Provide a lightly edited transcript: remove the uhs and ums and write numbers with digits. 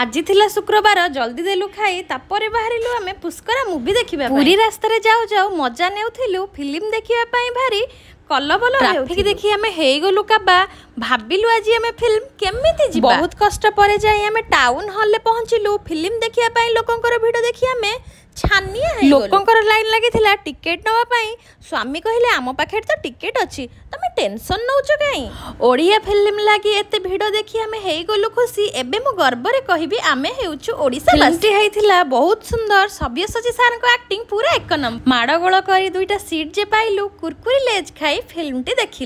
ଆଜି ଥିଲା ଶୁକ୍ରବାର। ଜଲ୍ଦି ଦେଲୁ ଖାଇ, ତାପରେ ବାହାରିଲୁ ଆମେ ପୁଷ୍କରା ମୁଭି ଦେଖିବା। ପୁରୀ ରାସ୍ତାରେ ଯାଉ ଯାଉ ମଜା ନେଉଥିଲୁ ଫିଲ୍ମ ଦେଖିବା ପାଇଁ। ଭାରି କଲବଲ ଟ୍ରାଫିକ ଦେଖି ଆମେ ହେଇଗଲୁ କାବା। ଭାବିଲୁ ଆଜି ଆମେ ଫିଲ୍ମ କେମିତି ଯିବା? ବହୁତ କଷ୍ଟ ପରେ ଯାଇ ଆମେ ଟାଉନ ହଲରେ ପହଞ୍ଚିଲୁ ଫିଲ୍ମ ଦେଖିବା ପାଇଁ। ଲୋକଙ୍କର ଭିଡ଼ ଦେଖି ଆମେ ଛାନିଆ। ଲୋକଙ୍କର ଲାଇନ ଲାଗିଥିଲା ଟିକେଟ ନେବା ପାଇଁ। ସ୍ୱାମୀ କହିଲେ, ଆମ ପାଖରେ ତ ଟିକେଟ ଅଛି, ତମେ ଟେନସନ ନଉଛ କାହିଁ? ଓଡ଼ିଆ ଫିଲ୍ମ ଲାଗି ଏତେ ଭିଡ଼ ଦେଖି ଆମେ ହେଇଗଲୁ ଖୁସି। ଏବେ ମୁଁ ଗର୍ବରେ କହିବି, ଆମେ ହେଉଛୁ ଓଡ଼ିଶା। ଫିଲ୍ମଟି ହେଇଥିଲା ବହୁତ ସୁନ୍ଦର। ସବ୍ୟସାଚୀ ସାର୍ଙ୍କ ଆକ୍ଟିଂ ପୁରା ଏକ ନମ୍ବର। ମାଡ଼ଗୋଳ କରି ଦୁଇଟା ସିଟ୍ ଯେ ପାଇଲୁ, କୁରକୁରି ଲେଜ୍ ଖାଇ ଫିଲ୍ମଟି ଦେଖିଲୁ।